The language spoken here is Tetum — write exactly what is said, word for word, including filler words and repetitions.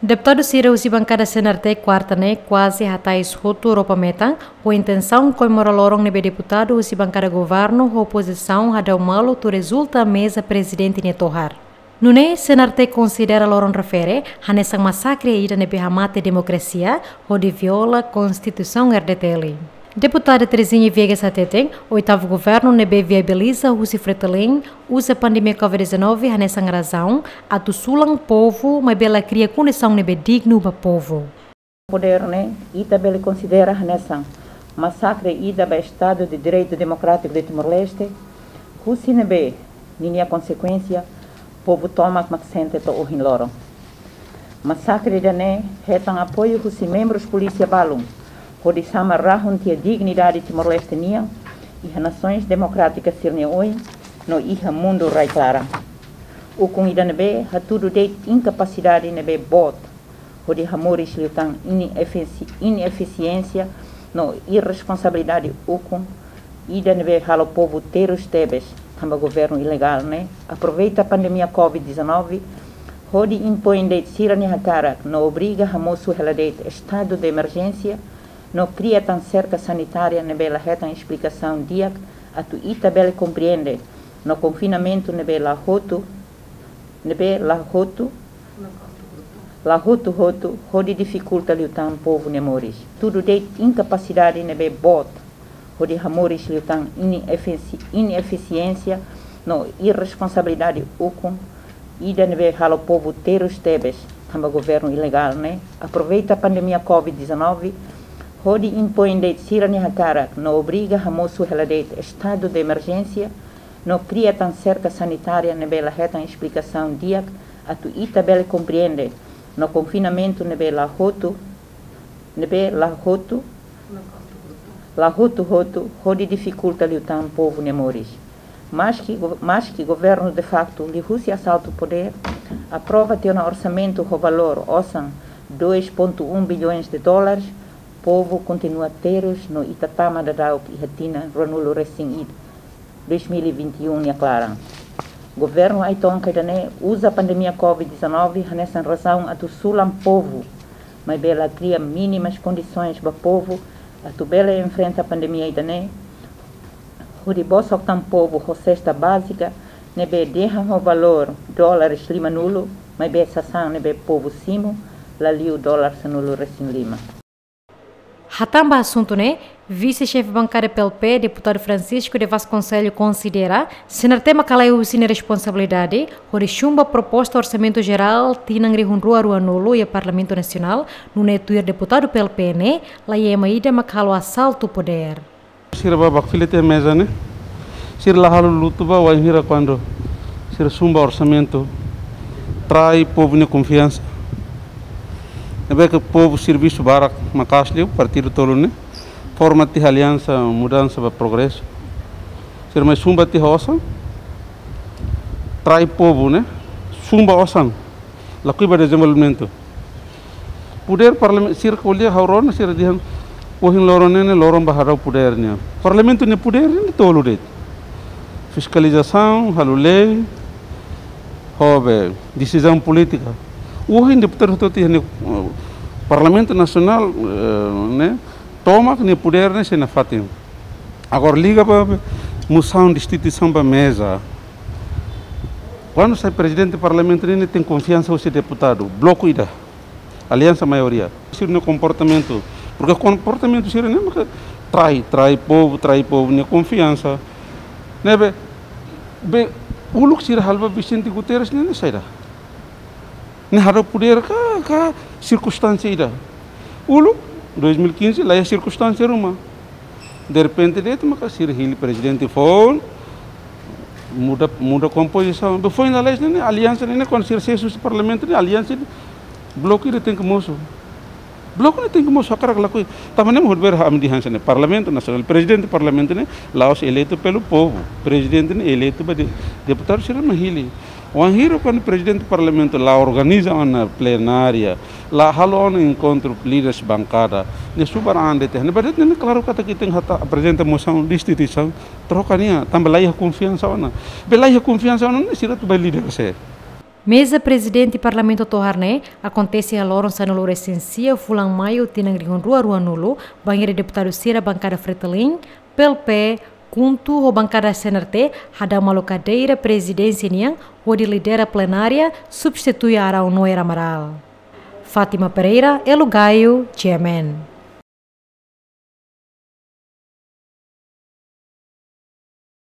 Deputadu sira husi bankada C N R T kuarta ne'e kuaze hatais hotu roupa metan, ho intensaun komemora loron ne'ebé deputadu husi bankada governu ho opozisaun hadau malu tuir rezulta meza prezidente nia tohar. Nune'e, C N R T konsidera loron refere hanesan masakre ida ne'ebé hamate demokrasia hodi viola Konstituisaun R D T L. Deputada Terezinha Viegas hateten, oitavu governu ne'ebé viabiliza husi Fretilin uza pandemia covid dezanove hanesan razaun atu sulan povu, maibé la kria kondisaun ne'ebé dignu ba povu. Podér ne'e, ita bele konsidera hanesan masakre ida ba Estadu de Direitu Demokrátiku de Timor-Leste, husi ne'ebé ninia konsekuénsia povu tomak mak sente to'o ohin loron. Masakre ida-ne'e hetan apoiu husi membrus polísia balun, hodi sama rahun tiha dignidade Timor-Leste nian iha nasoins demokrátikas sira-nia oin no iha mundu rai-klaran. Ukun ida ne'ebé hatudu de'it inkapasidade ne'ebé boot hodi hamoris liután inefisi-, inefisiénsia no irresponsabilidade ukun ida ne'ebé halo povu terus tebes, tanba governu ilegál ne'e aproveita pandemia covid dezanove hodi impoin de'it sira-nia hakarak no obriga hamosu hela de'it estadu de emerjénsia no kria tan serka sanitária ne'ebé la hetan esplikasaun di'ak atu ita bele komprende, no konfinamentu ne'ebé la hotu, ne'ebé la hotu, la hotu-hotu, hodi difikulta liután povu nia moris. Tudu de'it inkapasidade ne'ebé boot hodi hamoris liután inefisi-, inefisiénsia no irresponsabilidade ukun ida ne'ebé halo povu terus tebes, tanba governu ilegál ne'e aproveita pandemia covid dezanove hodi impoin de'it sira-nia hakarak no obriga hamosu hela de'it estadu de emerjénsia no kria tan serka sanitária ne'ebé la hetan esplikasaun di'ak atu ita bele komprende, no konfinamentu ne'ebé la hotu, ne'ebé la hotu, la hotu-hotu, hodi difikulta liután povu nia moris. Maski go-, maski governu de facto liuhusi asaltu podér aprova tiha ona orsamentu ho valór osan dois ponto um bilhões de dólares, povu kontinua terus no ita tama daudauk iha tinan ruanulu resin ida, dois mil e vinte e um nia klaran. Governu ai-tonka ida-ne'e uza pandemia covid dezanove hanesan razaun atu sulan povu, maibé la kria mínimas kondisoins ba povu atu bele enfrenta pandemia ida-ne'e, hodi bosok tan povu ho sesta bázika ne'ebé dehan ho valór dólares limanulu, maibé sasán ne'ebé povu simu la liu dólar sanulu resin lima. Hatán ba asuntu ne'e, vise-xefe bankada P L P, deputadu Francisco de Vasconcelos konsidera, C N R T mak halai husi nia responsabilidade hodi chumba proposta orsamentu jerál tinan rihun rua ruanulu iha Parlamentu Nasionál, nune'e tuir deputadu P L P ne'e, la ema ida mak halo asaltu podér. Sira ba bakfila tiha meza ne'e, sira la halo lutu ba wainhira kuandu sira chumba orsamentu, trai povu nia konfiansa. Ne'ebé ke povu servisu barak maka'as liu, partidu tolu ne'e forma tiha Aliansa Mudansa ba Progresu. Sira mai chumba tiha osan, trai povu ne'e, chumba osan, lakohi ba dezenvolvimentu. Podér parlamentu, sira ko'alia ha'u rona, sira dehan ohin loron ne'e ne'e loron ba hadau podér nian. Parlamentu nia podér ne'e tolu de'it. Fiskalizasaun, halo lei, ho be desizaun polítika. Ohin deputadu hotu-hotu iha ne'e, eh, Parlamentu Nasionál, eh, ne'e, tomak nia podér ne'e sei nafatin. Agora liga ba, ba mosaun destituisaun ba meza. Kuandu sai prezidente parlamentu ne'e, ne'e tenke konfiansa husi deputadu, bloku ida, aliansa maioria. Sira-nia komportamentu, porke komportamentu sira-ne'e maka trai, trai povu, trai povu nia konfiansa. Ne'ebé, be, uluk sira halo ba Vicente Guterres ne'e, ne'e saida? Ne'e hadau podér ka, ka sirkunstánsia ida? Uluk, dois mil e quinze, la iha sirkunstánsia ruma. Derrepente de'it maka sira hili prezidente foun, muda, muda kompozisaun. Be foin lalais ne'e, ne'e aliansa ne'e, ne'e kuandu sira sesu husi parlamentu ne'e, aliansa ne'e bloku ida tenke mosu. Bloku ne'e tenke mosu hakarak lakohi. Tanba ne'e mak ha'u dehan hanesan ne'e, Parlamentu Nasionál, prezidente parlamentu ne'e la'ós eleitu pelo povu. Prezidente ne'e eleitu ba de-, deputadu sira mak hili. Wainhira kuandu prezidente parlamentu la organiza ona plenária, la halo ona enkontru líderes bankada, ne'e subar an de'it. Ne'ebé de'it ne'e klaru katak ita tenke atu aprezenta mosaun destituisaun, troka nia, tanba la iha konfiansa ona. Be la iha konfiansa ona, ne'e sira atu ba líder sé? Meza Prezidente Parlamentu Tohar ne'e akontese iha loron sanulu-resin-sia fulan Maiu tinan rihun rua rua-nulu, bainhira deputadu sira bankada Fretilin, P L P, KHUNTO ho bankada C N R T hadau malu kadeira prezidénsia nian hodi lidera plenária, substitui Arão Noé Amaral. Fátima Pereira, Elo Gayo, G M N.